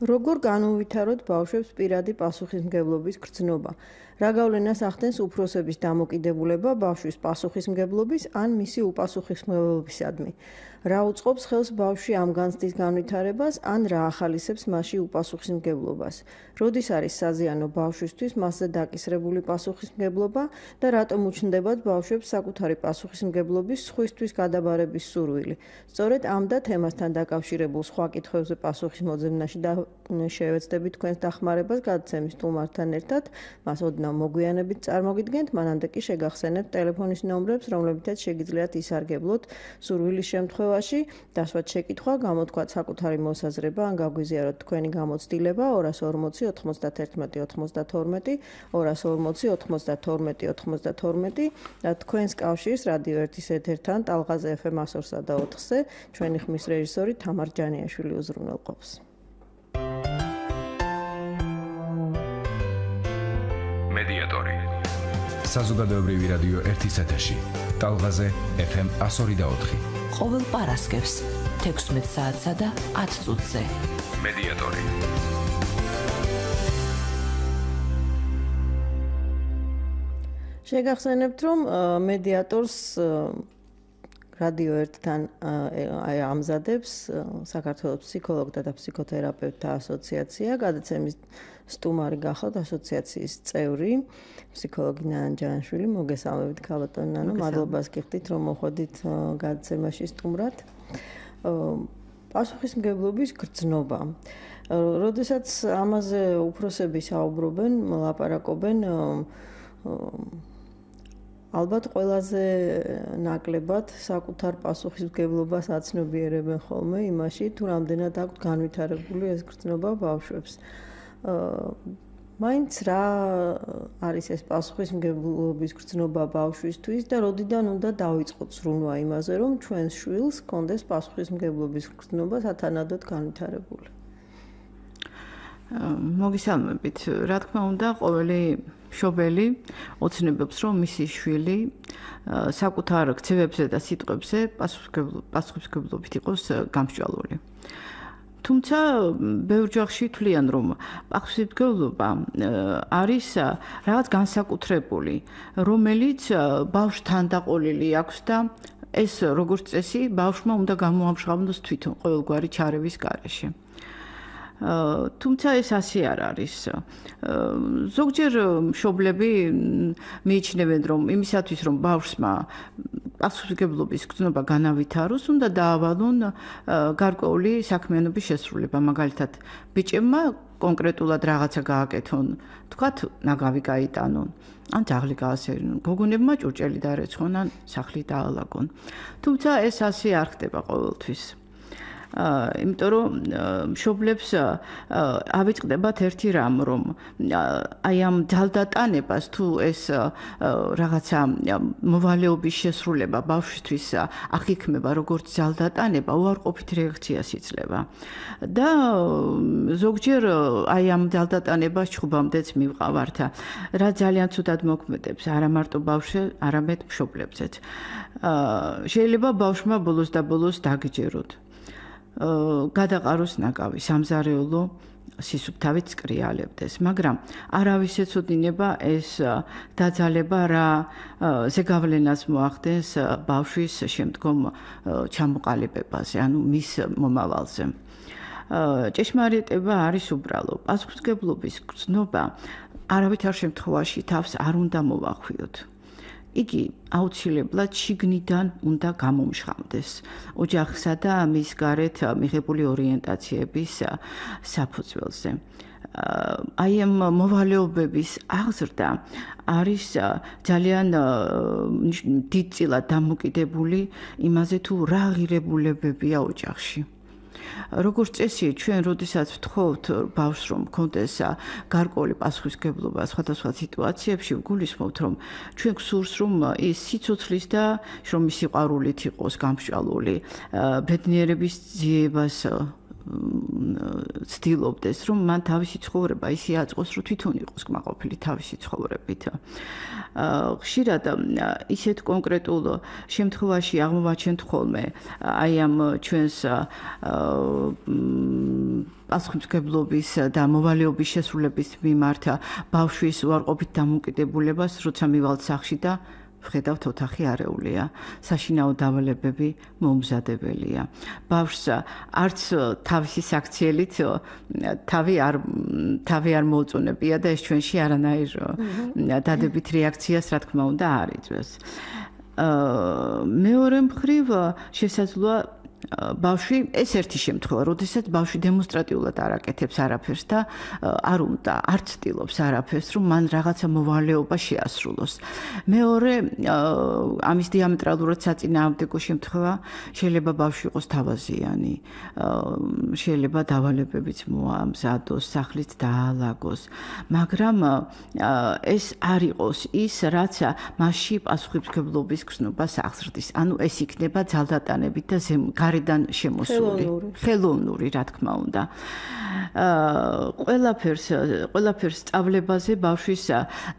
როგორ განუვითაროთ ბავშვებს პირადი პასუხისმგებლობის გრძნობა? რა გავლენას ახდენს უფროსების დამოკიდებულება ბავშვის პასუხისმგებლობის ან მისი უპასუხისმგებლობისადმი? რა უწყობს ხელს ბავშვი ამ განცდის განვითარებას ან რა ახალისებს მასში უპასუხისმგებლობას? როდის არის საზიანო ბავშვისთვის მასზე დაკისრებული პასუხისმგებლობა და რატომ უჩნდებათ ბავშვებს საკუთარი პასუხისმგებლობის სხვისთვის გადაბარების სურვილი? სწორედ ამ და თემასთან დაკავშირებულ სხვა კითხვებზე პასუხის მოძებნაში შევეცდებით თქვენს დახმარებას გადაცემის სტუმართან ერთად. მას ოდნავ მოგვიანებით წარმოგიდგენთ, მანამდე კი შეგახსენებთ ტელეფონის ნომრებს, რომლებითაც შეგიძლიათ ისარგებლოთ სურვილის შემთხვევაში, დასვათ შეკითხვა, გამოთქვათ საკუთარი მოსაზრება ან გაგვიზიაროთ თქვენი გამოცდილება 240 91 92 240 92 92 და თქვენს კავშირს რადიო 1-ის ეთერთან ტალღაზე FM 102-სა და 4-ზე ჩვენი ხმის რეჟისორი თამარ ჯანიაშვილი უზრუნველყოფს. მედიატორი საზოგადოებრივი რადიო 1-ის ეთერში ტალღაზე FM 102.4 ყოველ პარასკევს 16 საათსა და 10 წუთზე მედიატორი შეგახსენებთ, რომ მედიატორს რადიო 1-თან ამზადებს საქართველოს ფსიქოლოგთა და ფსიქოთერაპევტთა ასოციაცია. გადაცემის სტუმარი გახავთ ასოციაციის წევრი, ფსიქოლოგი ნანა ჯანაშვილი. მოგესალმებით, ქალბატონო ნანო. მადლობას გიხდით, რომ მოხვედით გადაცემაში სტუმრად. პასუხისმგებლობის გრძნობა. როდესაც ამაზე უფროსები საუბრობენ, ლაპარაკობენ, ალბათ ყველაზე ნაკლებად საკუთარ პასუხისმგებლობას აცნობიერებენ ხოლმე იმაში, თუ რამდენად აქვთ განვითარებული ეს გრძნობა ბავშვებს. მაინც რა არის ეს პასუხისმგებლობის გრძნობა ბავშვისთვის და როდიდან უნდა დავიწყოთ სრულმა იმაზე, რომ ჩვენს შვილს ჰქონდეს პასუხისმგებლობის გრძნობა სათანადოდ განვითარებული? მოგესალმებით. რა თქმა უნდა, ყოველი მშობელი ოცნებობს, რომ მისი შვილი საკუთარ ქცევებზე და სიტყვებზე პასუხისმგებლობით იყოს გამსჭვალული. თუმცა ბევრ ჯახში თვლიან, რომ პასუხისმგებლობა არის რაღაც განსაკუთრებული, რომელიც ბავშვთან დაყოლილი აქვს და ეს როგორც წესი ბავშვმა უნდა გამოამჟღავნოს თვითონ ყოველგვარი ჩარევის გარეშე. თუმცა ეს ასე არ არის. ზოგჯერ მშობლები მიიჩნევენ, რომ იმისათვის, რომ ბავშვმა პასუხისმგებლობის გრძნობა განავითაროს, უნდა დაავალონ გარკვეული საქმიანობის შესრულება. მაგალითად, ბიჭებმა კონკრეტულად რაღაცა გააკეთონ, თქვათ, ნაგავი გაიტანონ, ან ძაღლი გაასერინონ, გოგონებმა ჭურჭელი დაერეცხონ, ან სახლი დაალაგონ. თუმცა ეს ასე არ ხდება ყოველთვის. იმიტომ რომ მშობლებს ავიწყდებათ ერთი რამ, რომ აი ამ ძალდატანებას თუ ეს რაღაცა მოვალეობის შესრულება ბავშვისთვის აღიქმება როგორც ძალდატანება, უარყოფით რეაქციას იძლევა. და ზოგჯერ აი ამ ძალდატანებას ჩხუბამდეც მივყავართ, რა ძალიან ცუდად მოქმედებს არა მარტო ბავშვს, არამედ მშობლებზეც. შეიძლება ბავშვმა ბოლოს და ბოლოს დაგიჯეროთ. გადაყაროს ნაკავი, სამზარეულო სისუფთავით წკრიალებდეს, მაგრამ არავის ეცოდინება ეს დაძალება რა ზეგავლენას მოახდენს ბავშვის შემდგომ ჩამოყალიბებაზე, ანუ მის მომავალზე. ჭეშმარიტება არის უბრალო. პასუხისმგებლობის გრძნობა არავითარ შემთხვევაში თავს არ უნდა მოვახვიოთ. იგი აუცილებლად შიგნიდან უნდა გამომჟღავნდეს ოჯახსა და მის გარეთ მიღებული ორიენტაციების საფუძველზე. აი ამ მოვალეობების აღზრდა არის ძალიან დიდწილად დამოკიდებული იმაზე, თუ რა ღირებულებებია ოჯახში. როგორც წესი, ჩვენ როდესაც ვთხოვთ ბავშვს, რომ მქონდეს გარკვეული პასუხისმგებლობა სხვადასხვა სიტუაციებში, ვგულისხმობთ, რომ ჩვენ გსურს, რომ ის სიცოცხლის და რომ ის სიყვარულით იყოს გამსჭვალული, ბედნიერების ძიებას ცდილობდეს, რომ მან თავისი ცხოვრება ისე აწყოს, რომ თვითონ იყოს კმაყოფილი თავისი ცხოვრებით. ხშირად ისეთ კონკრეტულ შემთხვევაში აღმოვაჩენთ ხოლმე აი ამ ჩვენს პასუხისმგებლობის და მოვალეობის შესრულების მიმართ ბავშვის უარყოფით დამოკიდებულებას, როცა მივალთ სახლში და ვხედავთ ოთახი არეულია, საშინაო დავალებები მომზადებელია. ბავშვს არც თავისი საქციელით თავი არ მოუწონებია და ეს ჩვენში არანაირ დადებით რეაქციას, რა თქმა უნდა, არ იწვევს. მეორე მხრივ შესაძლოა ბავშვი ეს ერთი შემთხვევა, როდესაც ბავშვი დემონსტრატიულად არ აკეთებს არაფერს და არ ცდილობს არაფერს, რომ მან რაღაცა მოვალეობა შეასრულოს. მეორე ამის დიამეტრალურად საწინააღმდეგო შემთხვევა შეიძლება ბავშვი იყოს თავაზიანი, შეიძლება დავალებებიც მოამზადოს, სახლიც დაალაგოს, მაგრამ ეს არ იყოს ის, რაც მასში პასუხისმგებლობის გრძნობას აღზრდის. ანუ ეს იქნება ძალდატანებით და გარედან შემოსული, ხელოვნური, რა თქმა უნდა. ყველაფერს სწავლებაზე ბავშვის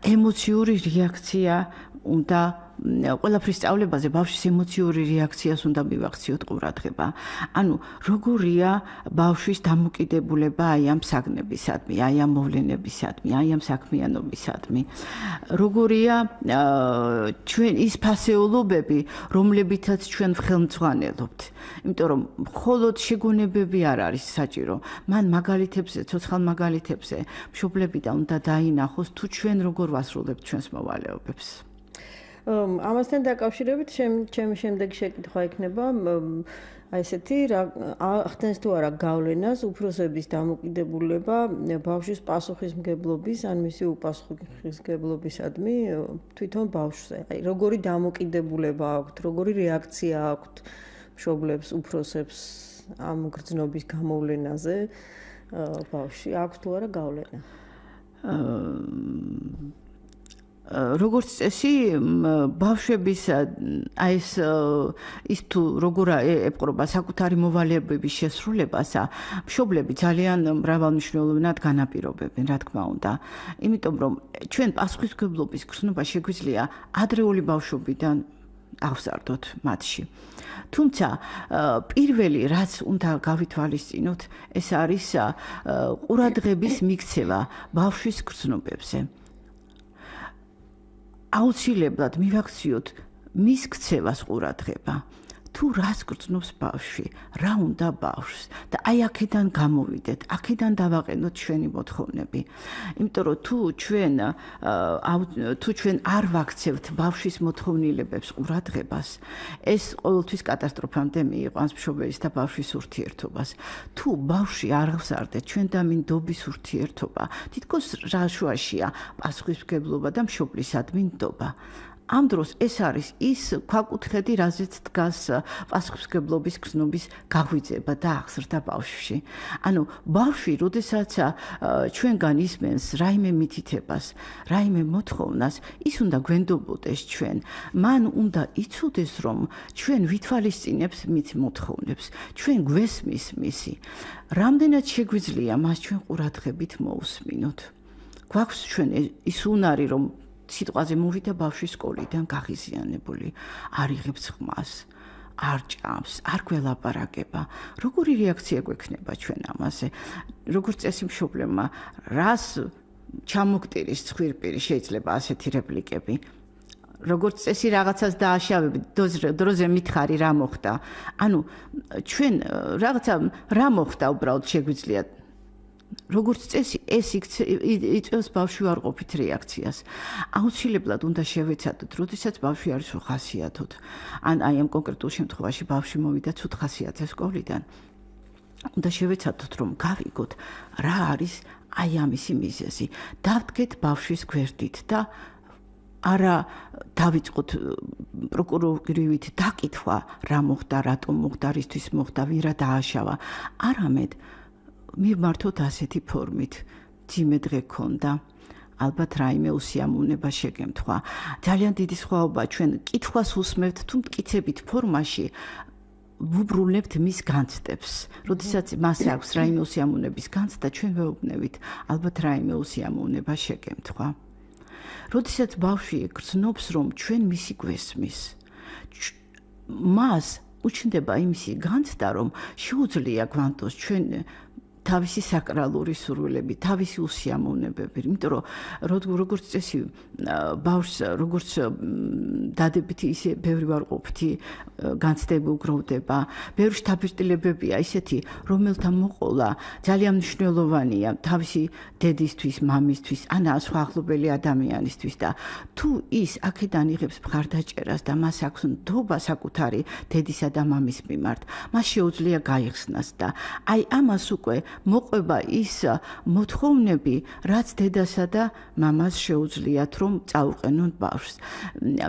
ემოციური რეაქცია უნდა ყველაფრის სწავლებაზე ბავშვის ემოციური რეაქციას უნდა მივახციოთ ყურადღება. ანუ როგორია ბავშვის დამოკიდებულება აი ამ საგნებისადმი, აი ამ მოვლენებისადმი, აი ამ საქმიანობისადმი. როგორია ჩვენ ის ფასეულობები, რომლებითაც ჩვენ ხელმძღვანელობთ. იმიტომ რომ მხოლოდ შეგონებები არ არის საჭირო. მან მაგალითებზე, ცოცხალ მაგალითებზე მშობლებიდან უნდა დაინახოს თუ ჩვენ როგორ ვასრულებთ ჩვენს მოვალეობებს. ამასთან დაკავშირებით ჩემი შემდეგი შეკითხვა იქნება აი ესეთი ახდენს თუ არა გავლენას უფროსების დამოკიდებულება ბავშვის პასუხისმგებლობის ან მისი უპასუხისმგებლობისადმი თვითონ ბავშვზე. აი როგორი დამოკიდებულება აქვთ, როგორი რეაქცია აქვთ მშობლებს, უფროსებს ამ გრძნობის გამოვლენაზე ბავშვი აქვს თუ არა გავლენა? როგორც წესი ბავშვების აი ის თუ როგორ ეპყრობა საკუთარი მოვალეობების შესრულებას, მშობლები ძალიან მრავალმნიშვნელოვნად განაპირობებენ, რა თქმა უნდა. იმიტომ რომ ჩვენ პასუხისმგებლობის გრძნობა შეგვიძლია ადრეული ბავშვობიდან ავსარდოთ მათში. თუმცა პირველი რაც უნდა გავითვალისწინოთ, ეს არის ყურადღების მიქცევა ბავშვის გრძნობებზე. აუცილებლად მივაქციოთ მის ქცევას ყურადღება. თუ რას გრძნობს ბავშვი, რა უნდა ბავშვს და აი აქედან გამოვიდეთ, აქედან დავაყენოთ ჩვენი მოთხოვნები. იმიტომ რომ თუ ჩვენ არ ვაქცევთ ბავშვის მოთხოვნილებებს ყურადღებას, ეს ყოველთვის კატასტროფამდე მიიყვანს მშობლის და ბავშვის ურთიერთობას. თუ ბავშვი არ აღზარდეთ ჩვენ და მინდობის ურთიერთობა, თითქოს რა შუაშია პასუხისმგებლობა და მშობლისადმი ნდობა. ამ დროს ეს არის ის ქვაკუთხედი, რაზეც დგას პასუხისმგებლობის გრძნობის გაღვიძება და აღზრდა ბავშვში. ანუ ბავშვი, როდესაც ჩვენგან ისმენს რაიმე მითითებას, რაიმე მოთხოვნას, ის უნდა გვენდობოდეს ჩვენ. მან უნდა იცოდეს, რომ ჩვენ ვითვალისწინებთ მის მოთხოვნებს, ჩვენ გვესმის მისი. რამდენად შეგვიძლია მას ჩვენ ყურადღებით მოусმინოთ. გვაქვს ჩვენ ის უნარი, რომ სიტყვაზე მოვიდა ბავშვი სკოლიდან გაღიზიანებული, არ იღებს ხმას, არ ჭამს, არ გველაპარაკება. როგორი რეაქცია გვექნება ჩვენ ამაზე? როგორც წესი მშობლებმა, რას ჩამოგტირის ცხვირპირი შეიძლება ასეთი რეპლიკები? როგორც წესი რაღაცას დააშავებით, დროზე მითხარი რა მოხდა. ანუ ჩვენ რაღაცა რა მოხდა უბრალოდ შეგვიძლია როგორც წესი ეს იწვევს ბავშვი უარყოფით რეაქციას. აუცილებლად უნდა შევეცადოთ, როდესაც ბავშვი არის უხასიათოდ. ან აი ამ კონკრეტულ შემთხვევაში ბავშვი მოვიდა ცუდ ხასიათზე სკოლიდან. უნდა შევეცადოთ, რომ გავიგოთ, რა არის აი ამისი მიზეზი. დავდგეთ ბავშვის გვერდით და არა დავიწყოთ პროკურორის დაკითხვა, რა მოხდა, რატომ მოხდა, რისთვის მოხდა, ვირა დააშავა. არამედ მივმართოთ ასეთი ფორმით, ძიმე დღე გქონდა, ალბათ რაიმე უსიამოვნება შეგემთხვა. ძალიან დიდი სხვაობა ჩვენ კითხვას უსმევთ თუ მტკიცებით ფორმაში ვუბრუნებთ მის განცდებს. როდესაც მას აქვს რაიმე უსიამოვნების განცდა, ჩვენ ვეუბნებით, ალბათ რაიმე უსიამოვნება შეგემთხვა. როდესაც ბავშვი გრძნობს, რომ ჩვენ მისი გვესმის, მას უჩნდება იმისი განცდა, რომ შეუძლია გვანტოს ჩვენ თავისი საკრალური სურვილები, თავისი უსიამოვნებები, იმიტომ რომ როგორც წესი ბავშვს როგორც დადებითი ისე ბევრი ვარყოფითი განცდები უგროვდება, ბევრი შთაბეჭდილებებია ისეთი, რომელთა მოყოლა ძალიან მნიშვნელოვანია თავისი დედისთვის, მამისთვის, ან სხვა ახლობელი ადამიანისთვის და თუ ის აქედან იღებს მხარდაჭერას და მას აქვს ნდობა საკუთარი დედისა და მამის მიმართ, მას შეუძლია გაიხსნას და აი ამას უკვე მოყვება ის მოთხოვნები, რაც დედასა და მამას შეუძლიათ რომ წაუყენონ ბავშვს.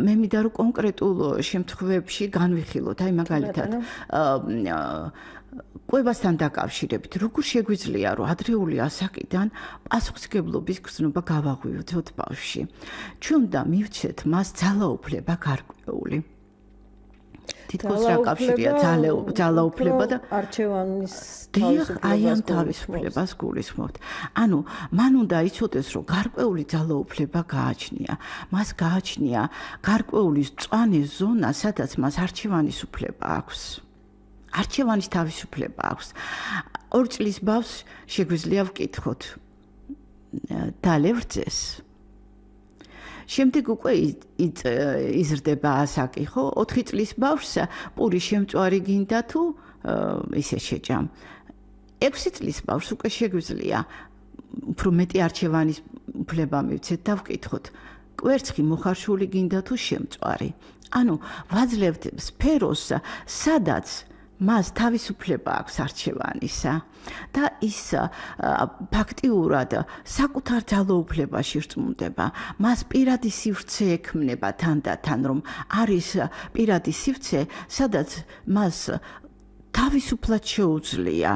მე მინდა რომ კონკრეტულ შემთხვევებში განვიხილოთ, აი მაგალითად კვებასთან დაკავშირებით, როგორ შეგვიძლია რომ ადრეული ასაკიდან პასუხისმგებლობის გრძნობა გავაღვივდოთ ბავშვში. ჩვენ უნდა მივცეთ მას ძალაუფლება გარკვეული. თითქოს რა კავშირია ძალაუფლება და არჩევანის თავისუფლებას გულისხმობთ. ანუ მან უნდა იცოდეს, რომ გარკვეული ძალაუფლება გააჩნია. მას გააჩნია გარკვეული მწვანე ზონა, სადაც მას არჩევანის უფლება აქვს. არჩევანის თავისუფლება აქვს. 2 წლის ბავშვს შეგვიძლია ვკითხოთ დალევრწეს. შემდეგ უკვე იზრდება ასაკი, ხო? 4 წლის ბავშვს პური შემწვარი გინდა თუ ისე შეჭამ. 6 წლის ბავშვს უკვე შეგვიძლია უფრო მეტი არჩევანის უფლება მივცეთ და ვკითხოთ, კვერცხი მოხარშული გინდა თუ შემწვარი. ანუ ვაძლევთ სფეროს, სადაც მას თავისუფლება აქვს არჩევანისა და ის ფაქტიურად საკუთარ ძალაუფლებაში რწმუნდება. მას პირადი სივრცე ექმნება თან და თან, რომ არის პირადი სივრცე, სადაც მას თავისუფლად შეუძლია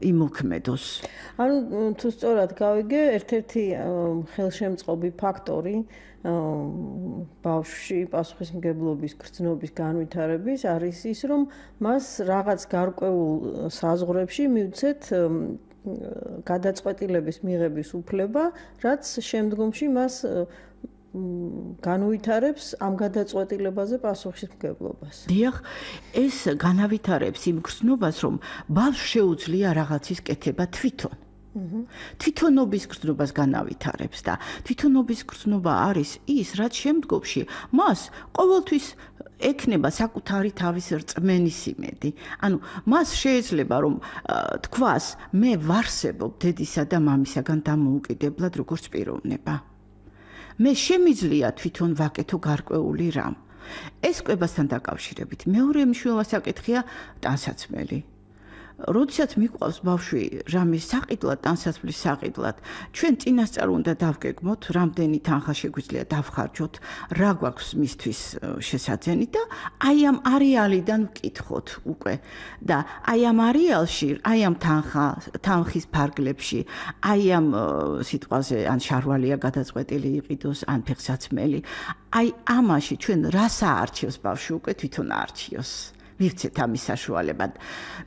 იმოქმედოს. ანუ თუ სწორად გავიგე, ერთ-ერთი ხელშემწყობი ფაქტორი ბავშვში პასუხისმგებლობის გრძნობის განვითარების არის ის, რომ მას რაღაც გარკვეულ საზღვრებში მივცეთ გადაწყვეტილების მიღების უფლება, რაც შემდგომში მას განვითარებს ამ გადაწყვეტილებაზე პასუხისმგებლობას. დიახ, ეს განავითარებს იმ გრძნობას, რომ ბავშვს შეუძლია რაღაცის კეთება თვითონ. თვითონობის გრძნობას განავითარებს და თვითონობის გრძნობა არის ის, რაც შემდგომში მას ყოველთვის ექნება საკუთარი თავის რწმენის იმედი. ანუ მას შეიძლება რომ თქვას, მე ვარსებობ დედისა და მამისაგან დამოუკიდებლად როგორც პიროვნება. მე შემიძლია თვითონ ვაკეთო გარკვეული რამ. ეს კვებასთან დაკავშირებით მეორე მნიშვნელოვანი საკითხია ტანსაცმელი. როდესაც მიყვავს ბავშვი რამის საყიდლად, ტანსაცმლის საყიდლად, ჩვენ წინასწარ უნდა დავგეგმოთ, რამდენი თანხა შეგვიძლია დავხარჯოთ, რა გვაქვს მისთვის შესაძენი და აი ამ არეალიდან ვკითხოთ უკვე. და აი ამ არეალში, აი ამ თანხის ფარგლებში, აი ამ სიტყვაზე ან შარვალია გადაწყვეტილი იყიდოს, ან ფეხსაცმელი, აი ამაში ჩვენ რას აარჩევს ბავშვი უკვე თვითონ აარჩიოს. მივცეთ ამის საშუალებად.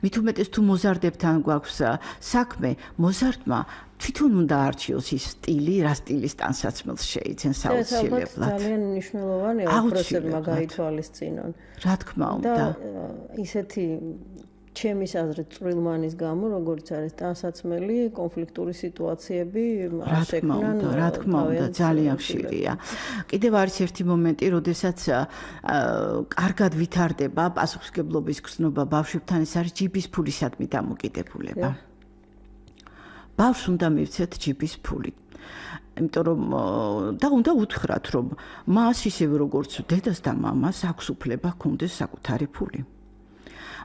მით უმეტეს თუ მოზარდებთან გვაქვს საქმე, მოზარდმა თვითონ უნდა არჩიოს ის სტილი, რა სტილის ტანსაცმელს შეიძენს აუცილებლად. ძალიან მნიშვნელოვანია უფროსებმა გაითვალისწინონ. რა თქმა უნდა. და ისეთი ჩემის აზრით წვრილმანის გამო, როგორც არის ტანსაცმელი, კონფლიქტური სიტუაციები შექმნან. რა თქმა უნდა, ძალიან ხშირია. კიდევ არის ერთი მომენტი, როდესაც კარგად ვითარდება პასუხისმგებლობის გრძნობა ბავშვებთან, ეს არის ჯიბის ფულისადმი დამოკიდებულება. ბავშვს უნდა მივცეთ ჯიბის ფული. იმიტომ რომ და უნდა უთხრათ, რომ მას ისევე როგორც დედას და მამას აქვს უფლება ჰქონდეს საკუთარი ფული.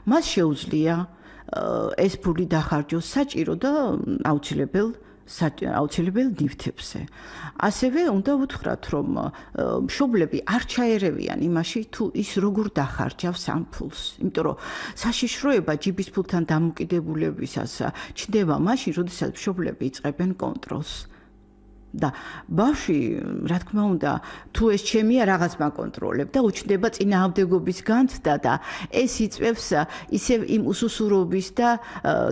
მას შეუძლია ეს ფული დახარჯოს საჭირო და აუცილებელ ნივთებზე. ასევე უნდა უთხრათ, რომ მშობლები არ ჩაერევიან იმაში, თუ ის როგორ დახარჯავს ამ ფულს. იმიტომ რომ საშიშროება ჯიბის ფულთან დამოკიდებულებისას ჩნდება მაშინ, როდესაც მშობლები იწყებენ კონტროლს. და ბავშვი, რა თქმა უნდა, თუ ეს ჩემია რაღაც მაკონტროლებ და უჩნდება წინააღმდეგობის განცდა და ეს იწვევს ისევ იმ უსუსურობის და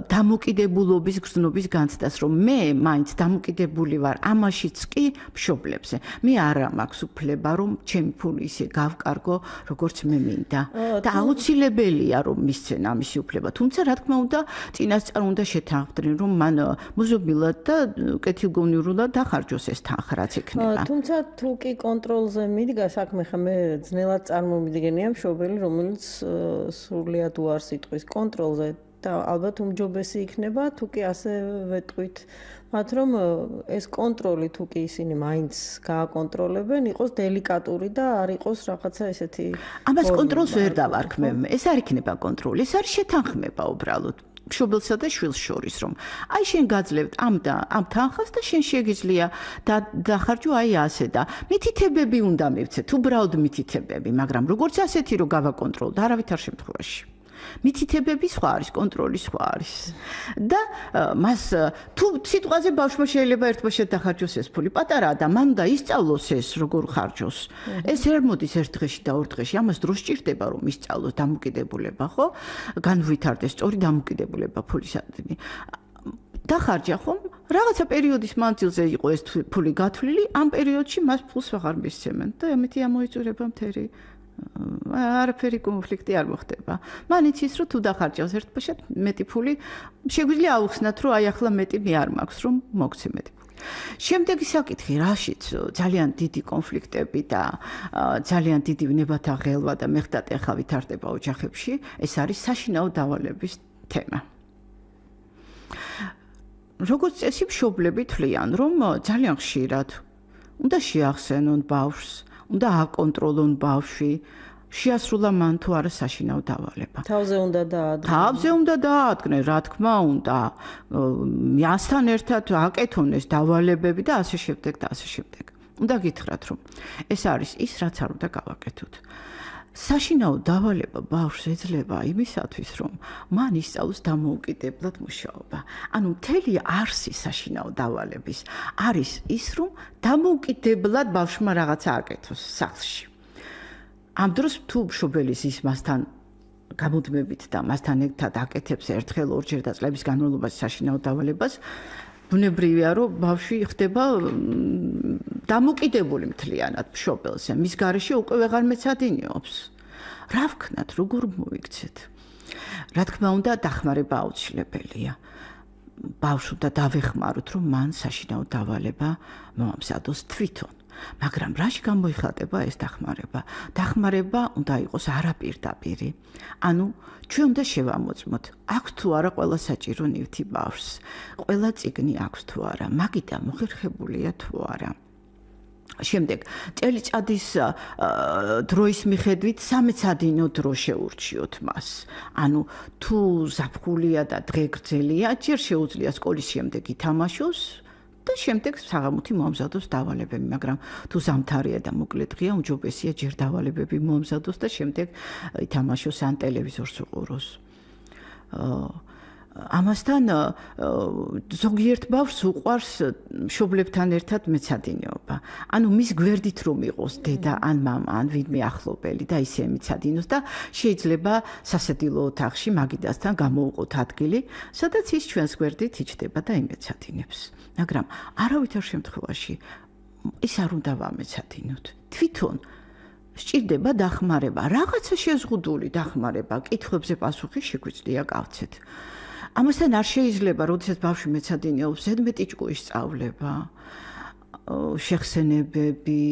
დამოკიდებულობის გრძნობის განცდას, რომ მე მაინც დამოკიდებული ვარ ამაშიც კი მშობლებზე. მე არა მაქვს უფლება, რომ ჩემი ფული ისე გავკარგო, როგორც მე მინდა. და აუცილებელია, რომ მისცენ ამისი უფლება. თუმცა, რა თქმა უნდა, წინასწარ უნდა შეთანხმდნენ, რომ მან მოზობილად და კეთილგონივრულად დახარჯოს ეს თანხა, რაც იქნება. თუმცა თუ კი კონტროლზე მიდგა საქმე, ხა მე ძნელად წარმომიდგენია მშობელი, რომელიც სრულიად უარს იტყვის კონტროლზე და ალბათ უმჯობესი იქნება, თუ კი ასე ვეტყვით, მათ რომ ეს კონტროლი თუ კი ისინი მაინც გააკონტროლებენ, იყოს დელიკატური და არ იყოს რაღაცა ესეთი. ამას კონტროლს ვერ დავარქმევ. ეს არ იქნება კონტროლი, ეს არის შეთანხმება უბრალოდ. მშობელსა და შვილს შორის, რომ აი შენ გაძლევთ ამ თანხას და შენ შეგიძლია დახარჯო აი ასე და მითითებები უნდა მივცეთ, უბრალოდ მითითებები, მაგრამ როგორც ასეთი რომ გავაკონტროლოთ, არავითარ შემთხვევაში. მითითებები სხვა არის, კონტროლი სხვა არის. და მას თუ სიტყვაზე ბავშვმა შეიძლება ერთბაშად დახარჯოს ეს ფული, პატარაა და მან უნდა ისწავლოს ეს როგორ ხარჯოს. ეს ვერ მოდის ერთ დღეში და ორ დღეში, ამას დრო სჭირდება რომ ისწავლოს დამოკიდებულება, ხო? განვითარდეს სწორი დამოკიდებულება ფულისადმი. დახარჯა ხომ? რაღაცა პერიოდის მანძილზე იყო ეს ფული გათვლილი, ამ პერიოდში მას ფულს აღარ მისცემენ და ამით ამოიწურება მთელი არაფერი კონფლიქტი არ მოხდება. მან იცის რომ თუ დახარჯავს ერთბაშად მეტი ფული, შეგვიძლია აუხსნათ რომ აი ახლა მეტი მე არ მაქვს რომ მოგცე მეტი ფული. შემდეგი საკითხი, რაშიც ძალიან დიდი კონფლიქტები და ძალიან დიდი ვნებათა ღელვა და მეხტატეხა ვითარდება ოჯახებში, ეს არის საშინაო დავალების თემა. როგორც წესი მშობლები თვლიან, რომ ძალიან ხშირად უნდა შეახსენონ ბავშვს, უნდა აკონტროლონ ბავშვი, შეასრულა მან თუ არა საშინაო დავალება. თავზე უნდა დაადგნენ. თავზე უნდა დაადგნენ, რა თქმა უნდა. მასთან ერთად აკეთონ ეს დავალებები და ასე შემდეგ და ასე შემდეგ. უნდა გითხრათ, რომ ეს არის ის, რაც არ უნდა გავაკეთოთ. საშინაო დავალება ბავშვს ეძლევა იმისათვის, რომ მან ისწავლოს დამოუკიდებლად მუშაობა. ანუ მთელი არსი საშინაო დავალების არის ის, რომ დამოუკიდებლად ბავშვმა რაღაცა აკეთოს სახლში. ამ დროს თუ მშობელი ის მასთან გამუდმებით და მასთან ერთად აკეთებს ერთხელ ორჯერ და წლების განმავლობაში საშინაო დავალებას, ბუნებრივია, რომ ბავშვი ხდება დამოკიდებული მთლიანად მშობელზე. მის გარეშე უკვე ვეღარ მეცადინეობს. რა ვქნათ, როგორ მოიქცეთ? რა თქმა უნდა, დახმარება აუცილებელია. ბავშვს უნდა დავეხმაროთ, რომ მან საშინაო დავალება მოამზადოს თვითონ. მაგრამ რაში გამოიხატება ეს დახმარება? დახმარება უნდა იყოს არაპირდაპირი. ანუ ჩვენ უნდა შევამოწმოთ, აქვს თუ არა ყველა საჭირო ნივთი ბავშვს, ყველა წიგნი აქვს თუ არა, მაგიდა მოხერხებულია თუ არა. შემდეგ წელიწადის დროის მიხედვით სამეცადინო დრო შეურჩიოთ მას. ანუ თუ ზაფხულია და დღე გრძელია, ჯერ შეუძლია სკოლის შემდეგ ითამაშოს და შემდეგ საღამოთი მოამზადოს დავალებები, მაგრამ თუ ზამთარია და მოკლე დღეა, უმჯობესია ჯერ დავალებები მოამზადოს და შემდეგ ითამაშოს ან ტელევიზორს უყუროს. ამასთან ზოგიერთ ბავშვს უყვარს მშობლებთან ერთად მეცადინეობა. ანუ მის გვერდით რომ იყოს დედა ან მამა ან ვინმე ახლობელი და ისე მეცადინოს და შეიძლება სასადილო ოთახში მაგიდასთან გამოუყოთ ადგილი, სადაც ის ჩვენს გვერდით იჯდება და იმეცადინებს. მაგრამ არავითარ შემთხვევაში ის არ უნდა ვამეცადინოთ. თვითონ სჭირდება დახმარება, რაღაცა შეზღუდული დახმარება, კითხვებზე პასუხი შეგვიძლია გავცეთ. ამასთან არ შეიძლება, როდესაც ბავშვი მეცადინეობს, ზედმეტი ჭკუის სწავლება, შეხსენებები,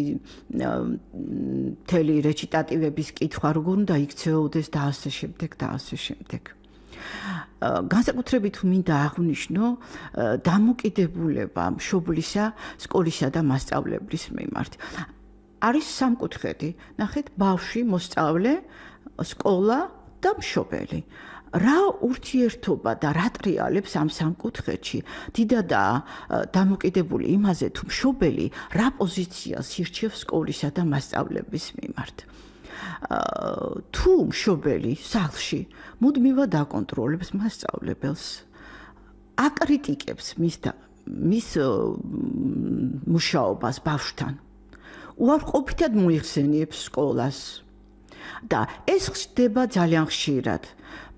მთელი რეჩიტატივების კითხვა, როგორ უნდა იქცეოდეს და ასე შემდეგ და ასე შემდეგ. განსაკუთრებით მინდა აღვნიშნო დამოკიდებულება მშობლისა, სკოლისა და მასწავლებლის მიმართ. არის სამკუთხედი, ნახეთ, ბავშვი, მოსწავლე, სკოლა და მშობელი. რა ურთიერთობა და რა ტრიალებს ამ სამკუთხედში? დიდადაა დამოკიდებული იმაზე, თუ მშობელი რა პოზიციას ირჩევს სკოლისა და მასწავლების მიმართ. თუ მშობელი სახლში მუდმივად აკონტროლებს მასწავლებელს, აკრიტიკებს მის მუშაობას ბავშვთან. უარყოფითად მოიხსენიებს სკოლას. და ეს ხდება ძალიან ხშირად.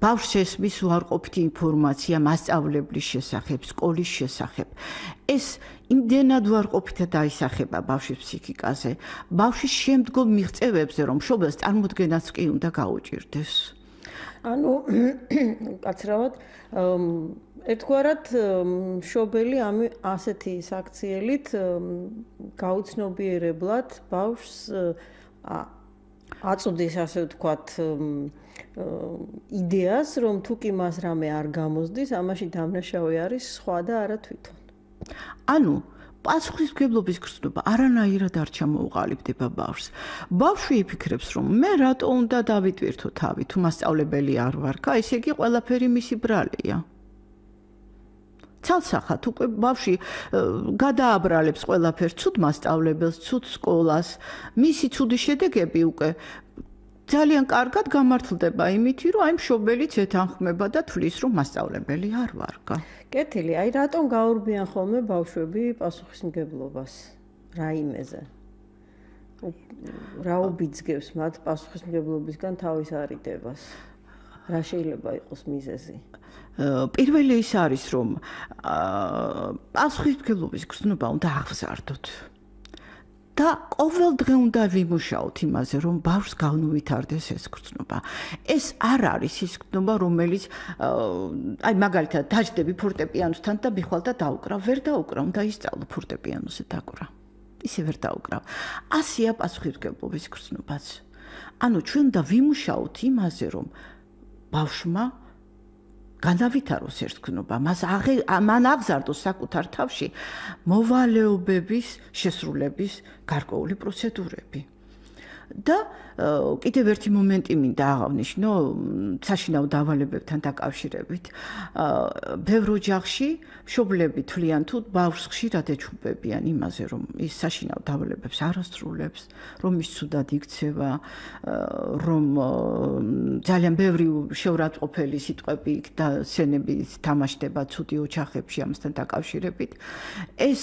ბავშვს ესმის უარყოფითი ინფორმაცია მასწავლებლის შესახებ, სკოლის შესახებ. ეს იმდენად უარყოფითად აისახება ბავშვის ფსიქიკაზე, ბავშვის შემდგომ მიღწევებზე, რომ მშობელს წარმოდგენაც კი უნდა გაუჭირდეს. ანუ კაცრავად ერთგვარად მშობელი ასეთი საქციელით გაუცნობიერებლად ბავშვს აწუდის, ასე ვთქვათ, იდეას, რომ თუ კი მას რამე არ გამოსდის, ამაში დამნაშავე არის სხვა და არა თვითონ. ანუ პასუხისმგებლობის გრძნობა არანაირად არ ჩამოუყალიბდება ბავშვს. ბავშვი იფიქრებს, რომ მე რატო უნდა დავიტვირთო თავი, თუ მასწავლებელი არ ვარ, ესე იგი ყველაფერი მისი ბრალია. ცალსახად უკვე ბავშვი გადააბრალებს ყველაფერს, ცუდ მასწავლებელს, ცუდ სკოლას, მისი ცუდი შედეგები უკვე ძალიან კარგად გამართლდება იმითი, რომ აი მშობელიც ეთანხმება და თვლის, რომ მასწავლებელი არ ვარგა. კეთილი, აი რატომ გაურბიან ხოლმე ბავშვები პასუხისმგებლობას რაიმეზე? რა უბიძგებს მათ პასუხისმგებლობისგან თავის არიდებას? რა შეიძლება იყოს მიზეზი? პირველი ის არის, რომ პასუხისმგებლობის გრძნობა უნდა აღზარდოთ. და ყოველ დღე უნდა ვიმუშაოთ იმაზე, რომ ბავშვს განუვითარდეს ეს გრძნობა. ეს არ არის ის გრძნობა, რომელიც აი მაგალითად დაждები ფორტეპიანოსთან და მიხვალ და დაუკრავ, ვერ დაუკრავ, უნდა ისწავლო ფორტეპიანოზე დაკვრა. ისე ვერ დაუკრავ. ასეა პასუხისმგებლობის გრძნობაც. ანუ ჩვენ უნდა ვიმუშაოთ იმაზე, რომ ბავშვმა განავითაროს ეს გრძნობა, მან აღზარდოს საკუთარ თავში მოვალეობების შესრულების გარკვეული პროცედურები. და კიდევ ერთი მომენტი მინდა აღავნიშნო საშინაო დავალებებთან დაკავშირებით. ბევრ ოჯახში მშობლები თვლიან თუ ბავშვს ხშირად ეჩუბებიან იმაზე, რომ ის საშინაო დავალებებს არ ასრულებს, რომ ის ცუდად იქცევა, რომ ძალიან ბევრი შეურაცხყოფელი სიტყვები და სცენები თამაშდება ცუდი ოჯახებში ამასთან დაკავშირებით. ეს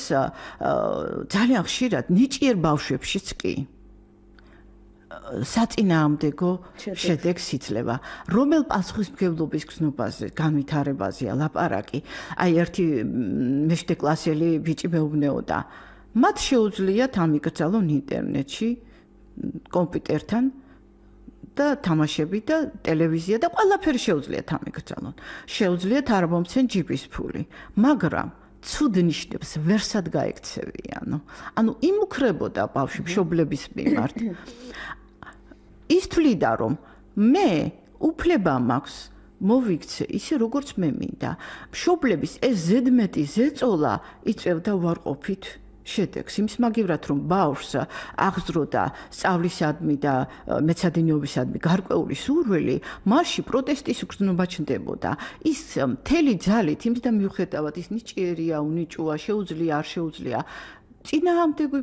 ძალიან ხშირად ნიჭიერ ბავშვებშიც კი საწინააღმდეგო შედეგს იძლევა. რომელ პასუხისმგებლობის გრძნობაზე, განვითარებაზეა ლაპარაკი? აი ერთი მე-7 კლასელი ბიჭი მეუბნეოდა. მათ შეუძლიათ ამიკრძალონ ინტერნეტში, კომპიუტერთან და თამაშები და ტელევიზია და ყველაფერი შეუძლიათ ამიკრძალონ. შეუძლიათ არ მომცენ ჯიბის ფული, მაგრამ ცუდ ნიშნებს ვერსად გაექცევიანო. ანუ იმუქრებოდა ბავშვი მშობლების მიმართ. ის თვლიდა, რომ მე უფლება მაქვს მოვიქცე ისე როგორც მე მინდა. მშობლების ეს ზედმეტი ზეწოლა იწევდა უარყოფით შედეგს. იმის მაგივრად, რომ ბავშვს აღზროდა სწავლისადმი და მეცადინეობისადმი გარკვეული სურვილი, მასში პროტესტის გრძნობა ჩნდებოდა. ის მთელი ძალით იმის და მიუხედავად ის ნიჭიერია, უნიჭოა, შეუძლია, არ შეუძლია, წინააღმდეგი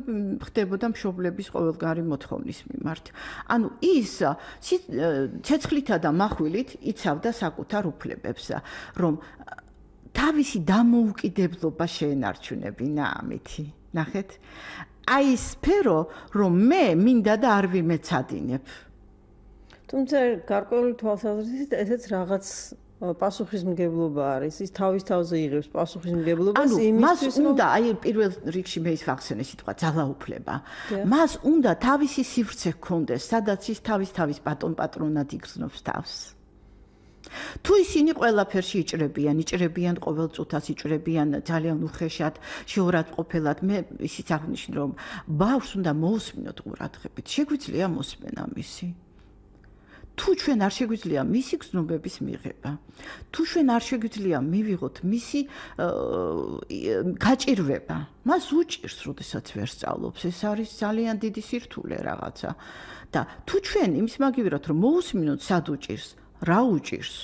ხდებოდა მშობლების ყოველგვარი მოთხოვნის მიმართ. ანუ ის ცეცხლითა და מחვილით იცავდა საკუთარ უფლებებს, რომ თავისი დამოუკიდებლობა შეენარჩუნებინა ამითი. ნახეთ? აი ეს სფერო, რომ მე მინდა და არ ვიმეცადინებ. თუმცა გარკვეული თვალსაზრისით ესეც რაღაც პასუხისმგებლობა არის. ის თავის თავზე იღებს პასუხისმგებლობას იმისთვის, რომ უნდა, აი პირველ რიგში მე ის ვახსენე სიტყვა ძალაუფლება. მას უნდა თავისი სივრცე ჰქონდეს, სადაც ის თავის პატრონად იგრძნობს თავს. თუ ისინი ყველაფერში იჭრებიან ყოველ წუთას იჭრებიან ძალიან უხეშად, შეურაცხყოფელად, მე ისიც აღნიშნე, რომ ბავშვს უნდა მოусმინოთ ყურადღებით. შეგვიძლია მოსმენა მისი. თუ ჩვენ არ შეგვიძლია მისი გრძნობების მიღება, თუ ჩვენ არ შეგვიძლია მივიღოთ მისი გაჭირვება, მას უჭირს, როდესაც ვერ სწავლობს, ეს არის ძალიან დიდი სირთულე რაღაცა. და თუ ჩვენ იმის მაგივრად რომ მოусმინოთ სად უჭირს, რა უჭირს,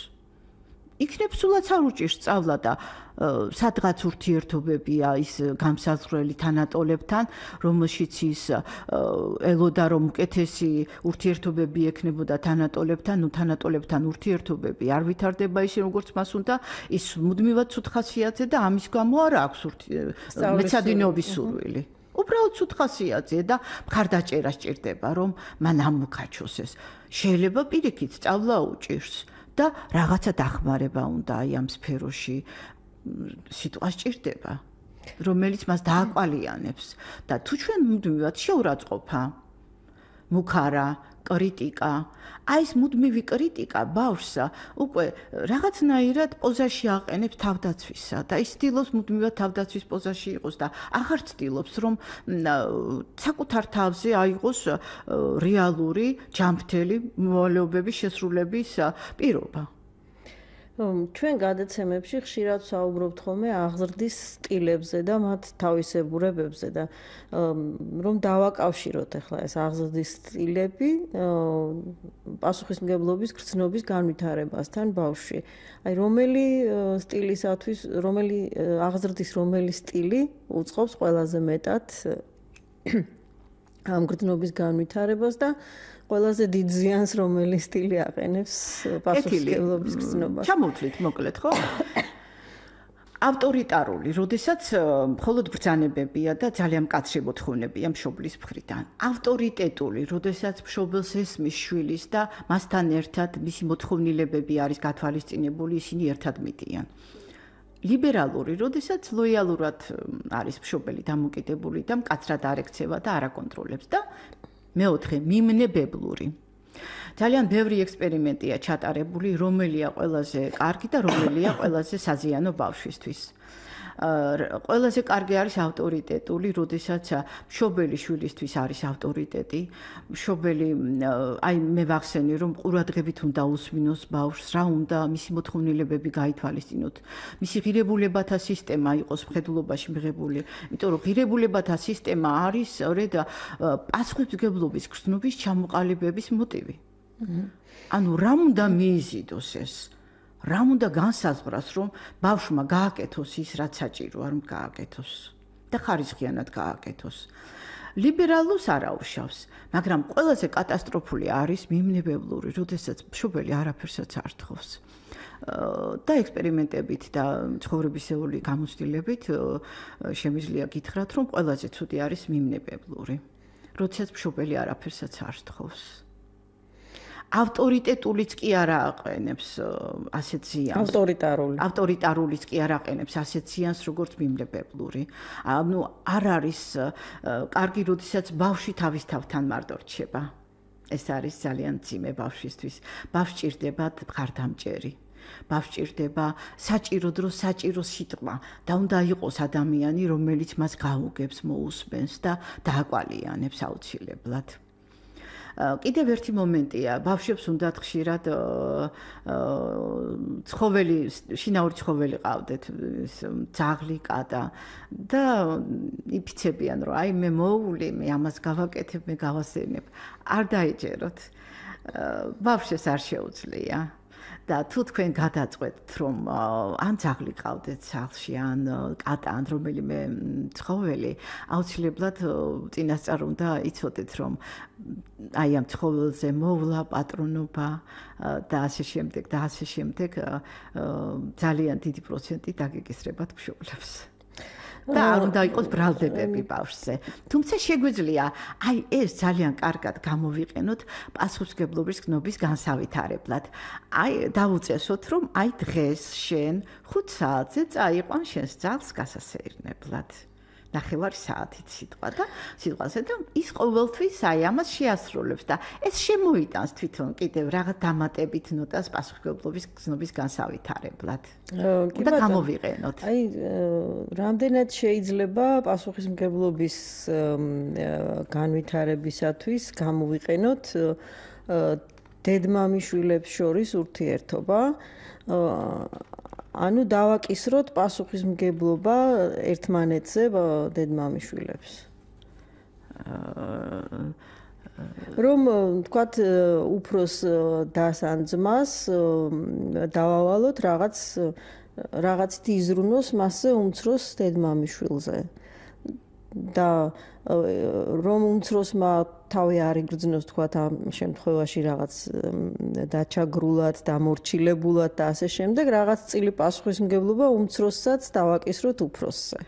იქნებ სულაც არ უჭირს სწავლა და სადღაც ურთიერთობებია ის გამსაზღვრელი თანატოლებთან, რომელშიც ის ელოდა რომ უკეთესი ურთიერთობები ექნებოდა თანატოლებთან, თანატოლებთან ურთიერთობები არ ვითარდება ისე როგორც მას უნდა, ის მუდმივად ცუდ ხასიათზე და ამის გამო არ აქვს მეცადინეობის სურვილი. უბრალოდ ცუდ ხასიათზე და მხარდაჭერა სჭირდება რომ მან ამოქაჩოს ეს. შეიძლება პირიქით სწავლა უჭირს და რაღაცა დახმარება უნდა აი ამ სფეროში სიტყვა სჭირდება, რომელიც მას დააკვალიანებს და თუ ჩვენ მუდმივად შეურაცხყოფა, მუქარა, კრიტიკა, აი ეს მუდმივი კრიტიკა ბავშვს უკვე რაღაცნაირად პოზაში აყენებს თავდაცვისა და ის ცდილობს მუდმივად თავდაცვის პოზაში იყოს და აღარ ცდილობს რომ საკუთარ თავზე აიღოს რეალური ჯანმრთელი მოვალეობების შესრულების პირობა. ჩვენ გადაცემებში ხშირად საუბრობთ ხოლმე აღზრდის სტილებზე და მათ თავისებურებებზე და რომ დავაკავშიროთ ახლა ეს აღზრდის სტილები პასუხისმგებლობის გრძნობის განვითარებასთან ბავშვში. აი რომელი სტილისათვის, რომელი აღზრდის რომელი სტილი უწყობს ყველაზე მეტად ამ გრძნობის განვითარებას და ყველაზე დიდ ზიანს რომელი სტილი აყენებს პასუხისმგებლობის გრძნობას. ჩამოვთვლით მოკლედ, ხო? ავტორიტარული, როდესაც მხოლოდ ბრძანებებია და ძალიან მკაცრი მოთხოვნებია მშობლის მხრიდან. ავტორიტეტული, როდესაც მშობელს ესმის შვილის და მასთან ერთად მისი მოთხოვნილებები არის გათვალისწინებული, ისინი ერთად მიდიან. ლიბერალური, როდესაც ლოიალურად არის მშობელი დამოკიდებული და მკაცრად არ ექცევა და არ აკონტროლებს და მეოთხე, მიმნებებლური. ძალიან ბევრი ექსპერიმენტია ჩატარებული, რომელია ყველაზე კარგი და რომელია ყველაზე საზიანო ბავშვისთვის. ყველაზე კარგი არის ავტორიტეტული, როდესაც მშობელი შვილისთვის არის ავტორიტეტი. მშობელი, აი მე ვახსენე, რომ ყურადღებით უნდა უსმინოს ბავშვს, რა უნდა მისი მოთხოვნილებები გაითვალისწინოთ. მისი ღირებულებათა სისტემა იყოს მხედველობაში მიღებული, იმიტომ რომ ღირებულებათა სისტემა არის სწორედ პასუხისმგებლობის გრძნობის ჩამოყალიბების მოტივი. ანუ რა უნდა მიიზიდოს ეს? რა უნდა განსაზღვრას, რომ ბავშვმა გააკეთოს ის, რაც საჭიროა რომ გააკეთოს და ხარისხიანად გააკეთოს. ლიბერალურს არ აუშავს, მაგრამ ყველაზე კატასტროფული არის მიმნებებლური, როდესაც მშობელი არაფერსაც არ თხოვს. და ექსპერიმენტებით და ცხოვრებისეული გამოცდილებით შემიძლია გითხრათ, რომ ყველაზე ცუდი არის მიმნებებლური, როდესაც მშობელი არაფერსაც არ თხოვს. ავტორიტეტულიც კი არ აყენებს ასეთ ზიანს. ავტორიტარულიც კი არ აყენებს ასეთ ზიანს, როგორც მიმნებებლური. ანუ არ არის კარგი, როდესაც ბავშვი თავის თავთან მარტო რჩება. ეს არის ძალიან მძიმე ბავშვისთვის. ბავშვს ჭირდება მხარდამჭერი. ბავშვს ჭირდება საჭირო დრო, საჭირო სიტყვა და უნდა იყოს ადამიანი, რომელიც მას გაუგებს, მოусმენს და დააკვალიანებს აუცილებლად. კიდევ ერთი მომენტია, ბავშვებს უნდათ ხშირად ცხოველი, შინაური ცხოველი ყავდეთ, ძაღლი, კატა და იფიცებიან, რომ აი მე მოული, მე ამას გავაკეთებ, მე გავასწენებ. არ დაეჯეროთ. ბავშვს არ შეუძლია. და თუ თქვენ გადაწყვეტთ, რომ ან ძაღლი ყავდეთ სახლში, ან კატა, ან რომელიმე ცხოველი, აუცილებლად წინასწარ უნდა იცოდეთ, რომ აი ამ ცხოველზე მოვლა პატრონობა და ასე შემდეგ და ასე შემდეგ ძალიან დიდი პროცენტი დაგეკისრებათ მშობლებს. და არ უნდა იყოს ბრალდებები ბავშვზე. თუმცა შეგვიძლია აი ეს ძალიან კარგად გამოვიყენოთ პასუხისმგებლობის გრძნობის განსავითარებლად. აი დავუწესოთ, რომ აი დღეს შენ 5 საათზე წაიყვან შენს ძაღლს გასასეირნებლად. 9 საათით სიტყვაზე და ის ყოველთვის აი ამას შეასრულებს და ეს შემოიტანს თვითონ კიდევ რაღაც დამატებით ნოტას პასუხისმგებლობის გრძნობის განსავითარებლად. და გამოვიყენოთ. აი რამდენად შეიძლება პასუხისმგებლობის განვითარებისათვის გამოვიყენოთ დედმამიშვილებს შორის ურთიერთობა. ანუ დავაკისროთ პასუხისმგებლობა ერთმანეთზე დედმამიშვილებს. რომ თქვათ უფროს დას ან ძმას დავავალოთ რაღაცით იზრუნოს მასზე უმცროს დედმამიშვილზე და რომ უმცროსმა თავი არ იგრძნოს თქვათ ამ შემთხვევაში რაღაც დაჩაგრულად, დამორჩილებულად და ასე შემდეგ რაღაც წილი პასუხისმგებლობა უმცროსაც დავაკისროთ უფროსზე.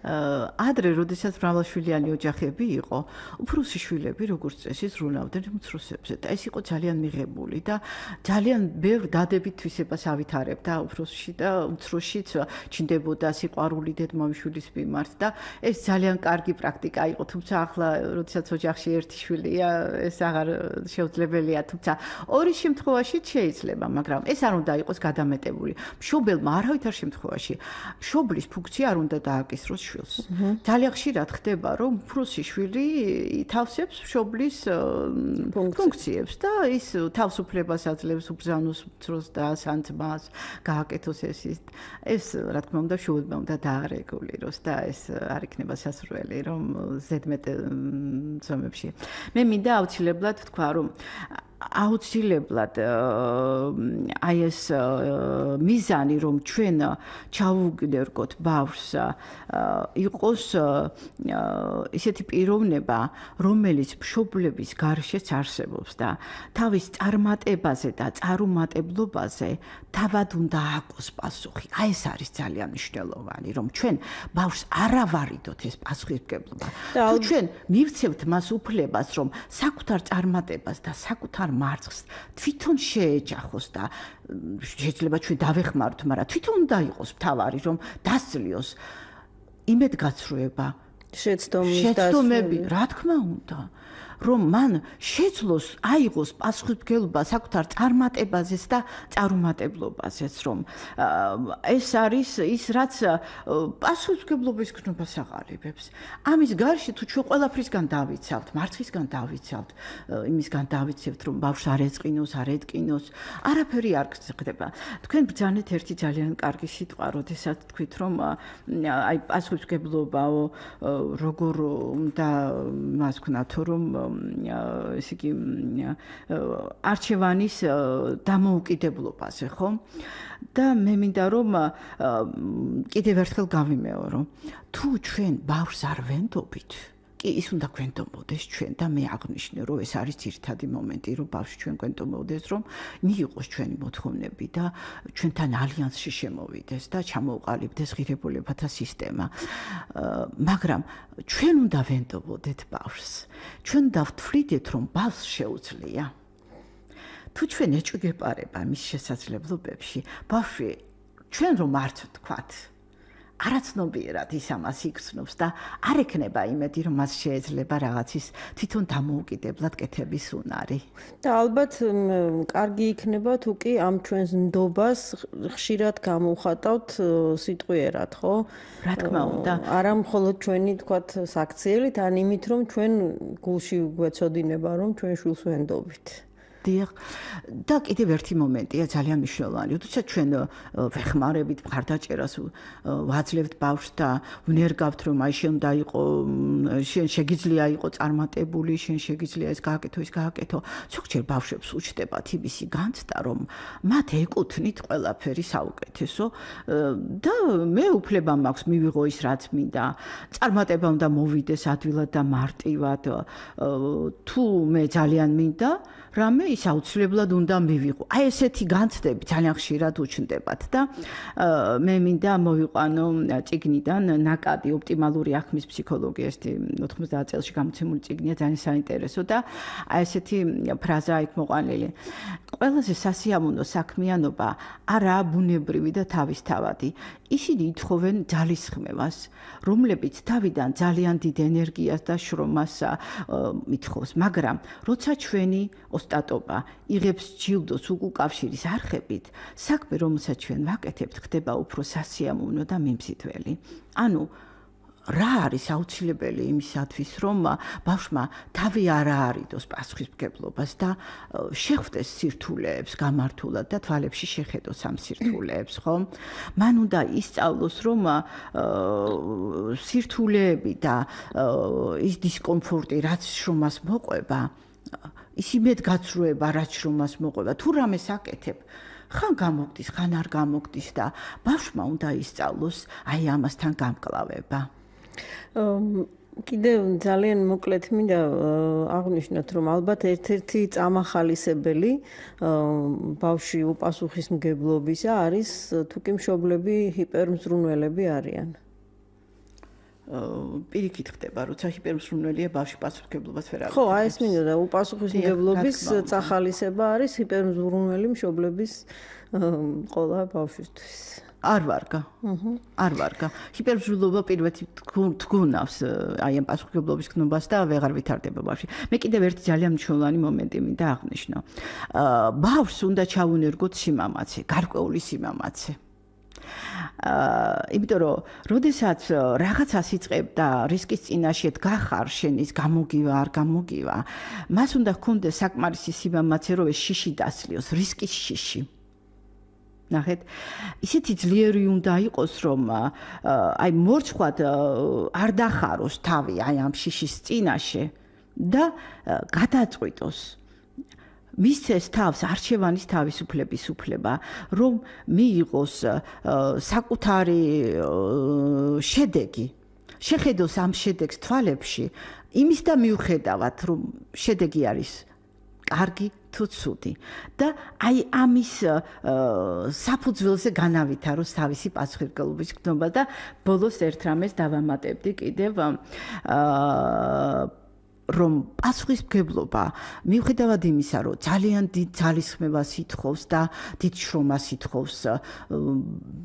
ადრე, როდესაც მრავალშვილიანი ოჯახები იყო, უფროსი შვილები, როგორც წესი, ზრუნავდნენ უმცროსებზე და ეს იყო ძალიან მიღებული და ძალიან ბევრ დადებით თვისებას ავითარებდა უფროსში და უმცროსშიც ჩნდებოდა სიყვარული დედმამიშვილის მიმართ და ეს ძალიან კარგი პრაქტიკა იყო, თუმცა ახლა, როდესაც ოჯახში ერთი შვილია, ეს აღარ შეუძლებელია, თუმცა ორის შემთხვევაში შეიძლება, მაგრამ ეს არ უნდა იყოს გადამეტებული. მშობელმა არავითარ შემთხვევაში მშობლის ფუნქცია არ უნდა დააკისროს ძალიან ხშირად ხდება, რომ უფროსი შვილი ითავსებს მშობლის ფუნქციებს და ის თავისუფლებას აძლევს უბრძანოს უმცროს დას ან ძმას, გააკეთოს ეს რა თქმა უნდა მშობელმა უნდა დაარეგულიროს და ეს არ იქნება სასურველი, რომ ზედმეტ ზომებში. მე მინდა აუცილებლად თქვა, რომ აუცილებლად აი ეს მიზანი რომ ჩვენ ჩავუგდერგოთ ბავშვს იყოს ისეთი პიროვნება რომელიც მშობლების გარშეც არსებობს და თავის წარმატებაზე და წარუმატებლობაზე თავად უნდა აყოს პასუხი. აი ეს არის ძალიან მნიშვნელოვანი რომ ჩვენ ბავშვს არ ავარიდოთ ეს პასუხისმგებლობა. თუ ჩვენ მივცევთ მას უფლებას რომ საკუთარ წარმატებას და საკუთარ მარცხს თვითონ შეეჯახოს და შეიძლება ჩვენ დავეხმაროთ, მაგრამ თვითონ უნდა იყოს მთავარი, რომ დასწლიოს იმედგაცრუება, შეცდომები, რა თქმა უნდა, რომ მან შეძლოს აიღოს პასუხისმგებლობა საკუთარ წარმატებაზეც და წარუმატებლობაზეც, რომ ეს არის ის, რაც პასუხისმგებლობის გრძნობას აღარებებს. ამის გარშე თუ ჩვენ ყველაფრისგან დავიცავთ, მარცხისგან დავიცავთ, იმისგან დავიცევთ, რომ ბავშვს არ ეწყინოს, არ ეტკინოს, არაფერი არ ხდება. თქვენ ბრძანეთ ერთი ძალიან კარგი სიტყვა, როდესაც თქვით, რომ აი პასუხისმგებლობაო, როგორ უნდა მას ვქნათ, რომ ესე იგი არჩევანის დამოუკიდებლობაზე, ხო? და მე მინდა რომ კიდევ ერთხელ გავიმეორო, თუ ჩვენ ბავშვს არ ვენდობით, კი ის უნდა გვენდობოდეს ჩვენ და მე აღნიშნე, რომ ეს არის ძირითადი მომენტი, რომ ბავშვი ჩვენ გვენდობოდეს, რომ მიიღოს ჩვენი მოთხოვნები და ჩვენთან ალიანსში შემოვიდეს და ჩამოუყალიბდეს ღირებულებათა სისტემა. მაგრამ ჩვენ უნდა ვენდობოდეთ ბავშვს. ჩვენ უნდა ვთვლიდეთ, რომ ბავშვს შეუძლია. თუ ჩვენ ეჭვგეპარება მის შესაძლებლობებში, ბავშვი ჩვენ რომ არც ვთქვათ, არაცნობიერად ის ამას იგრძნობს და არ ექნება იმედი, რომ მას შეიძლება რაღაცის თვითონ დამოუკიდებლად კეთების უნარი. და ალბათ კარგი იქნება თუ კი ამ ჩვენს ნდობას ხშირად გამოვხატავთ სიტყვიერად, ხო? რა თქმა უნდა. არა მხოლოდ ჩვენი თქვათ საქციელით, ან იმით, რომ ჩვენ გულში გვეცოდინება, რომ ჩვენ შვილს ვენდობით. და კიდევ ერთი მომენტია ძალიან მნიშვნელოვანი. როდესაც ჩვენ ვეხმარებით მხარდაჭერას ვაძლევთ ბავშვს და ვნერგავთ, რომ აი შენ უნდა იყო, შენ შეგიძლია იყო წარმატებული, შენ შეგიძლია ეს გააკეთო, ის გააკეთო. ზოგჯერ ბავშვებს უჩნდებათ იმისი განცდა, რომ მათ ეკუთვნით ყველაფერი საუკეთესო და მე უფლება მაქვს მივიღო ის, რაც მინდა. წარმატება უნდა მოვიდეს ადვილად და მარტივად. თუ მე ძალიან მინდა რამე ის აუცილებლად უნდა მივიღო. აი ესეთი განცდები ძალიან ხშირად უჩნდებათ და მე მინდა მოვიყვანო წიგნიდან ნაკადი ოპტიმალური ახმის ფსიქოლოგია, 90 წელში გამოცემული წიგნია, ძალიან საინტერესო და აი ესეთი ფრაზაა იქ მოყვანილი. ყველაზე სასიამოვნო საქმიანობა არაა ბუნებრივი და თავისთავადი. ისინი ითხოვენ ძალისხმევას, რომლებიც თავიდან ძალიან დიდ ენერგიას და შრომას ითხოვს, მაგრამ როცა ჩვენი ოსტატობა იღებს ჯილდოს უკავშირის არხებით, საქმე, რომელსაც ჩვენ ვაკეთებთ, ხდება უფრო სასიამოვნო და მიმზიდველი. ანუ რა არის აუცილებელი იმისათვის, რომ ბავშვმა თავი არ აარიდოს პასუხისმგებლობას და შეხვდეს სირთულეებს გამართულად და თვალებში შეხედოს ამ სირთულეებს, ხო? მან უნდა ისწავლოს, რომ სირთულეები და ის დისკომფორტი, რაც შრომას მოყვება, ის იმედ გაცრუება, რაც შრომას მოყვება, თუ რამე საკეთებ, ხან გამოგდის, ხან არ გამოგდის და ბავშვმა უნდა ისწავლოს აი ამასთან გამკლავება. კიდევ ძალიან მოკლედ მინდა აღვნიშნოთ, რომ ალბათ ერთ-ერთი წამახალისებელი ბავშვი უპასუხისმგებლობისა არის თუკი მშობლები ჰიპერმზრუნველები არიან. პირიქით ხდება, როცა ჰიპერმზრუნველია ბავშვი პასუხისმგებლობას ვერ აღწევს. ხო, აი ეს მინდოდა, უპასუხისმგებლობის წახალისება არის ჰიპერმზრუნველი მშობლების ყოლა ბავშვისთვის. არ ვარგა. ჰიპერმზრუნველობა პირველი თგუნავს აი ამ პასუხისმგებლობის გნობას და ვეღარ ვითარდება ბავშვი. მე კიდევ ერთი ძალიან მნიშვნელოვანი მომენტი მინდა აღნიშნო. ბავშვს უნდა ჩაუნერგოთ სიმამაცე, გარკვეული სიმამაცე. იმიტომ რომ როდესაც რაღაცას იწყებ და რისკის წინაშე გახარ შენის გამოგივა არ გამოგივა, მას უნდა ჰქონდეს საკმარისი სიმამაცე, რომ ეს შიში დასლიოს, რისკის შიში. ნახეთ, ისეთი ძლიერი უნდა იყოს, რომ აი მორცხვად არ დახაროს თავი აი ამ შიშის წინაშე და გადაწყვიტოს. მისცეს თავს არჩევანის თავისუფლების უფლება, რომ მიიღოს საკუთარი შედეგი. შეხედოს ამ შედეგს თვალებში, იმის და მიუხედავად, რომ შედეგი არის კარგი თუ ცუდი და აი ამის საფუძველზე განავითაროს თავისი პასუხისმგებლობის გნობა და ბოლოს ერთ რამეს დავამატებდი კიდევ რომ პასუხისმგებლობა მიუხედავად იმისა, რომ ძალიან დიდ ძალისხმევას ითხოვს და დიდ შრომას ითხოვს,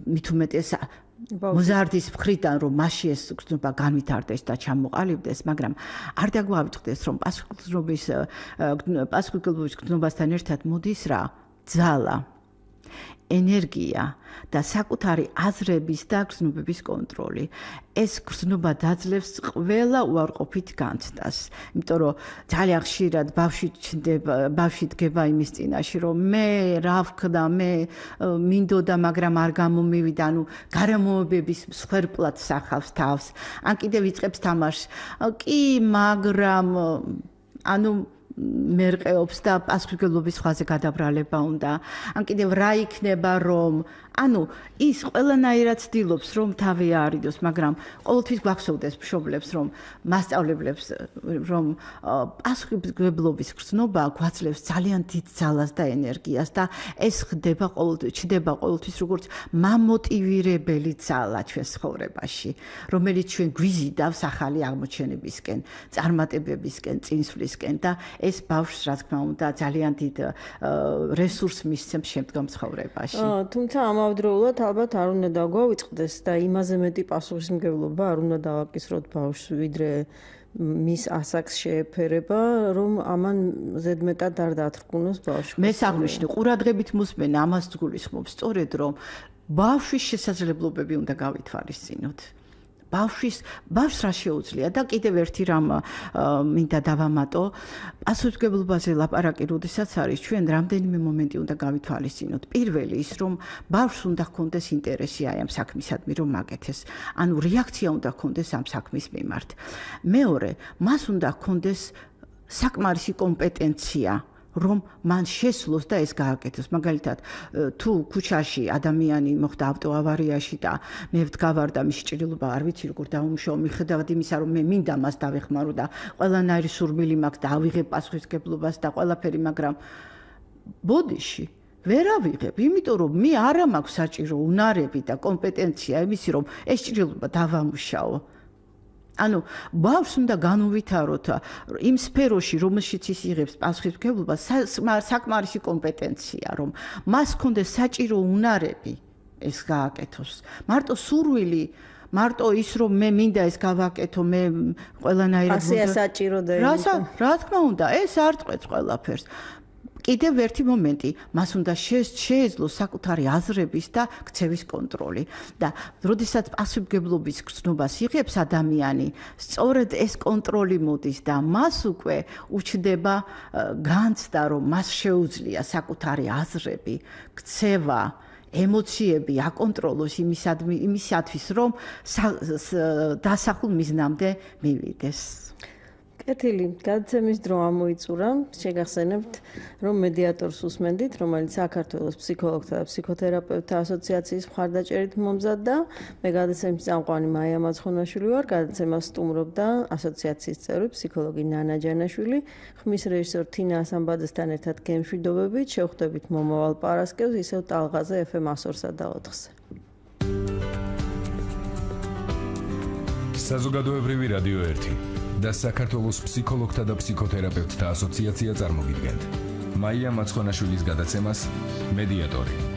მით უმეტეს მოზარდის მხრიდან, რომ მასში ეს გზნობა განვითარდეს და ჩამოყალიბდეს, მაგრამ არ დაგვავიწყდეს, რომ პასუხისმგებლობის გზნობასთან ერთად მოდის რა? ძალა, ენერგია და საკუთარი აზრების და გზნობების კონტროლი. ეს გზნობა დაძლევს ყველა უარყოფით განცდას. იმიტომ რომ ძალიან ხშირად ბავშვი დგება იმის წინაშე, რომ მე რა ვქნა, მე მინდოდა, მაგრამ არ გამომივიდა, ანუ გარემოებების მსხვერპლად სახავს თავს. ან კიდევ იწყებს თამაშს. კი, მაგრამ ანუ მერყეობს და პასუხისმგებლობის ხაზზე გადაბრალება უნდა. ან კიდევ რა იქნება, რომ ანუ ის ყველანაირად ცდილობს, რომ თავი აარიდოს, მაგრამ ყოველთვის გვახსოვდეს მშობლებს, რომ მასწავლებლებს, რომ პასუხისმგებლობის გრძნობა გვაძლევს ძალიან დიდ ძალას და ენერგიას და ეს ჩნდება ყოველთვის როგორც მამოტივირებელი ძალა ჩვენ ცხოვრებაში, რომელიც ჩვენ გვიზიდავს ახალი აღმოჩენებისკენ, წარმატებებისკენ, წინსვლისკენ და ეს ბავშვს, რა თქმა უნდა, ძალიან დიდ რესურსს მისცემს შემდგომ ცხოვრებაში. თუმცა ამავდროულად ალბათ არ უნდა დაგვავიწყდეს და იმაზე მეტი პასუხისმგებლობა არ უნდა დავაკისროთ ბავშვს, ვიდრე მის ასაკს შეეფერება, რომ ამან ზედმეტად არ დათრგუნოს ბავშვი. მე საღვნიშნე ყურადღებით მოსმენ ამას გულისხმობს, სწორედ რომ ბავშვის შესაძლებლობები უნდა გავითვალისწინოთ. ბავშვს რა შეუძლია და კიდევ ერთი რამ მინდა დავამატო, პასუხისმგებლობაზე ლაპარაკი როდესაც არის, ჩვენ რამდენიმე მომენტი უნდა გავითვალისწინოთ. პირველი ის, რომ ბავშვს უნდა ჰქონდეს ინტერესი აი ამ საქმისადმი, რომ მაგეთეს. ანუ რეაქცია უნდა ჰქონდეს ამ საქმის მიმართ. მეორე, მას უნდა ჰქონდეს საკმარისი კომპეტენცია, რომ მან შესძლოს და ეს გააკეთოს. მაგალითად, თუ ქუჩაში ადამიანი მოხდა ავტოავარიაში და მე ვდგავარ და მისი ჭრილობა არ ვიცი როგორ დაუმშავა, მიხედავად იმისა, რომ მე მინდა მას დავეხმარო და ყველანაირი სურვილი მაქვს და ავიღებ პასუხისმგებლობას და ყველაფერი, მაგრამ ბოდიში ვერ ავიღებ, იმიტომ რომ მე არა მაქვს საჭირო უნარები და კომპეტენცია იმისი, რომ ეს ჭრილობა დავამუშაო. ანუ ბავშვს უნდა განუვითაროთ იმ სფეროში, რომელშიც ის იღებს პასუხისმგებლობას, საკმარისი კომპეტენცია, რომ მას ჰქონდეს საჭირო უნარები ეს გააკეთოს. მარტო სურვილი, მარტო ის, რომ მე მინდა ეს გავაკეთო, მე ყველანაირად ასეა საჭირო და რა თქმა უნდა, ეს არ წყვეტს ყველაფერს. კიდევ ერთი მომენტი, მას უნდა შეეძლოს საკუთარი აზრების და ქცევის კონტროლი და როდესაც პასუხისმგებლობის გრძნობას იღებს ადამიანი, სწორედ ეს კონტროლი მოდის და მას უკვე უჩნდება განცდა, რომ მას შეუძლია საკუთარი აზრები, ქცევა, ემოციები აკონტროლოს იმისათვის, რომ დასახულ მიზნამდე მივიდეს. კეთილი, გადაცემის დრო ამოიწურა. შეგახსენებთ, რომ მედიატორს უსმენდით, რომელიც საქართველოს ფსიქოლოგთა და ფსიქოთერაპევტთა ასოციაციის მხარდაჭერით მომზადდა. მე გადაცემის წამყვანი მაია მაცხონაშვილი ვარ, გადაცემას სტუმრობდა ასოციაციის წევრი ფსიქოლოგი ნანა ჯანაშვილი, ხმის რეჟისორ თინა ასამბაძესთან ერთად გემშვიდობებით, შევხვდებით მომავალ პარასკევს ისევ ტალღაზე FM 102-სა და 4-ზე. საზოგადოებრივი რადიო 1 და საქართველოს ფსიქოლოგთა და ფსიქოთერაპევტთა ასოციაცია წარმოგიდგენთ. მაია მაცხონაშვილის გადაცემას მედიატორი.